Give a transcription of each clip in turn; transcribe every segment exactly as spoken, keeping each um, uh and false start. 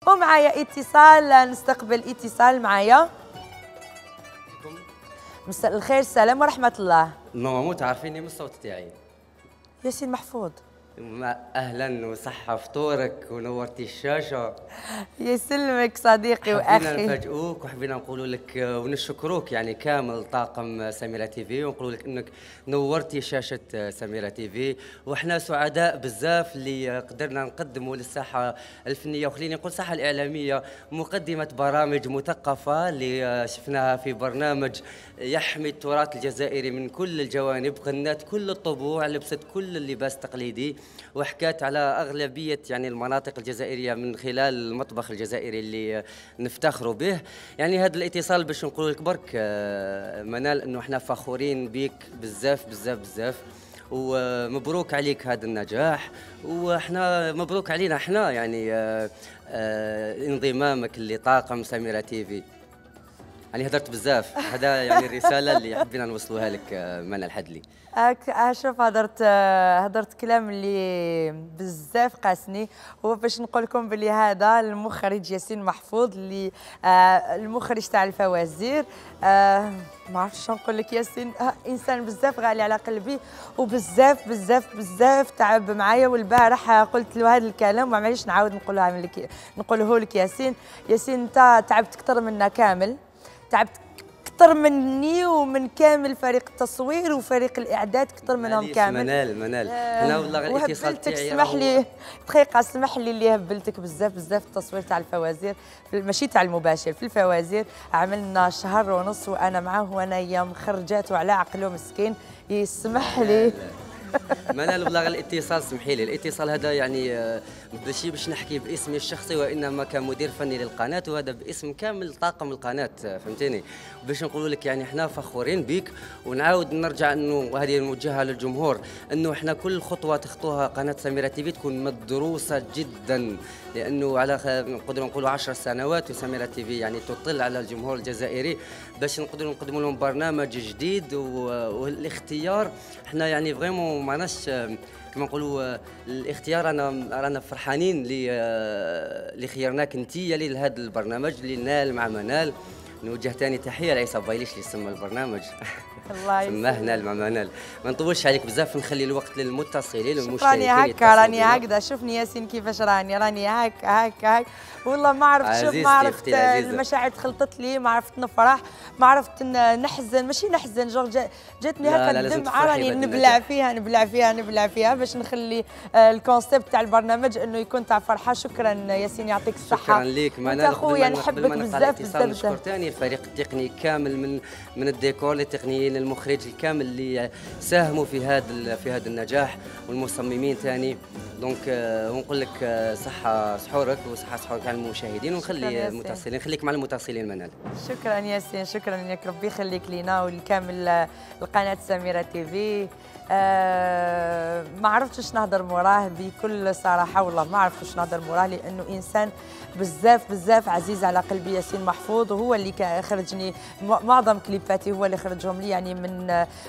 ومعايا اتصال، نستقبل اتصال معايا. مساء الخير، السلام ورحمة الله. ماما مو تعرفيني من الصوت تاعي. ياسين محفوظ. اهلا وصحة فطورك ونورتي الشاشة. يسلمك صديقي واخي. حبينا نفاجئوك وحبينا نقولوا لك ونشكروك يعني كامل طاقم سميرة تي في، ونقولوا لك انك نورتي شاشة سميرة تي في، وحنا سعداء بزاف اللي قدرنا نقدموا للساحة الفنية وخليني نقول الساحة الإعلامية مقدمة برامج مثقفة اللي شفناها في برنامج يحمي التراث الجزائري من كل الجوانب، غنات كل الطبوع، لبست كل اللباس التقليدي، وحكات على أغلبية يعني المناطق الجزائرية من خلال المطبخ الجزائري اللي نفتخروا به. يعني هذا الاتصال باش نقول لك برك منال انه احنا فخورين بك بزاف بزاف بزاف، ومبروك عليك هذا النجاح، واحنا مبروك علينا احنا يعني آآ آآ انضمامك لطاقم سميرة تي في. يعني هدرت بزاف، هذا يعني الرسالة اللي حبينا نوصلوها لك منال الحدلي. شوف هدرت هدرت كلام اللي بزاف قاسني، هو باش نقول لكم بلي هذا المخرج ياسين محفوظ اللي آه المخرج تاع الفوازير. آه ما عرفتش نقول لك، ياسين آه انسان بزاف غالي على قلبي، وبزاف بزاف بزاف تعب معايا، والبارح قلت له هذا الكلام ومعليش نعاود نقولها لك نقوله لك. ياسين ياسين انت تعبت اكثر منا كامل، تعبت اكثر مني ومن كامل فريق التصوير وفريق الاعداد، اكثر منهم كامل. منال منال انا والله الاتصال تاعي اسمح لي دقيقه، اسمح لي اللي هبلتك بزاف بزاف التصوير تاع الفوازير، ماشي تاع المباشر، في الفوازير عملنا شهر ونص وانا معاه وانايا مخرجاته على عقله مسكين. يسمح لي منال والله الاتصال سمحي لي، الاتصال هذا يعني ماشي باش نحكي باسمي الشخصي وانما كمدير فني للقناه، وهذا باسم كامل طاقم القناه، فهمتيني؟ باش نقول لك يعني احنا فخورين بك، ونعاود نرجع انه وهذه موجهه للجمهور انه احنا كل خطوه تخطوها قناه سميرة تي في تكون مدروسه جدا، لانه على نقدروا نقولوا عشر سنوات وسميرة تي في يعني تطل على الجمهور الجزائري باش نقدروا نقدموا لهم برنامج جديد، والاختيار احنا يعني فريمون معناش كما نقولوا الاختيار، انا رانا فرحانين اللي خيرناك انت لهذا البرنامج اللي نال مع منال. نوجه ثاني تحيه لعيسى بايليش اللي سمى البرنامج. الله يسلمك. سماه نال مع منال. ما نطولش عليك بزاف، نخلي الوقت للمتصلين راني والمشتركين. هكا راني هكذا، شوفني ياسين كيفاش راني راني هكا هكا هكا والله ما عرفت. شوف ما عرفت المشاعر تخلطت لي، ما عرفت نفرح، ما عرفت نحزن، ماشي نحزن جور جاتني هكا الدمعه راني نبلع فيها نبلع فيها نبلع فيها باش نخلي الكونسيبت تاع البرنامج انه يكون تاع فرحه. شكرا ياسين يعطيك الصحه. شكرا ليك منال اخويا، نحبك بزاف بزاف. نشكر ثاني الفريق التقني كامل من من الديكور للتقنيين، المخرج الكامل اللي ساهموا في هذا في هذا النجاح، والمصممين ثاني. دونك ونقول لك صحه سحورك وصحه سحورك على المشاهدين، ونخلي المتصلين خليك مع المتصلين منال. شكرا ياسين، شكرا لك، ربي يخليك لينا ولكامل القناه سميرة تي في. آه ما عرفتش نهضر موراه بكل صراحه، والله ما عرفتش نهضر موراه، لانه انسان بزاف بزاف عزيز على قلبي. ياسين محفوظ هو اللي خرجني معظم كليباتي، هو اللي خرجهم لي، يعني من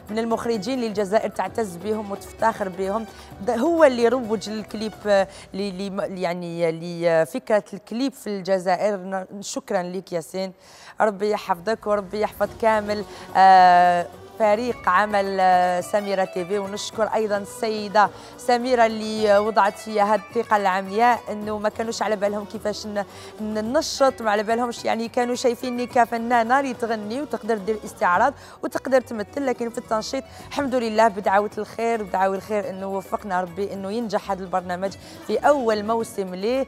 من المخرجين اللي الجزائر تعتز بهم وتفتخر بهم. هو اللي روج للكليب اللي يعني لفكره الكليب في الجزائر. شكرا لك ياسين، ربي يحفظك وربي يحفظ كامل آه فريق عمل سميرة تي في. ونشكر ايضا السيده سميره اللي وضعت فيها هذه الثقه العمياء، انه ما كانوش على بالهم كيفاش ننشط، ما على بالهمش، يعني كانوا شايفيني كفنانه اللي تغني وتقدر دير استعراض وتقدر تمثل، لكن في التنشيط الحمد لله بدعوه الخير بدعوه الخير انه وفقنا ربي انه ينجح هذا البرنامج في اول موسم ليه.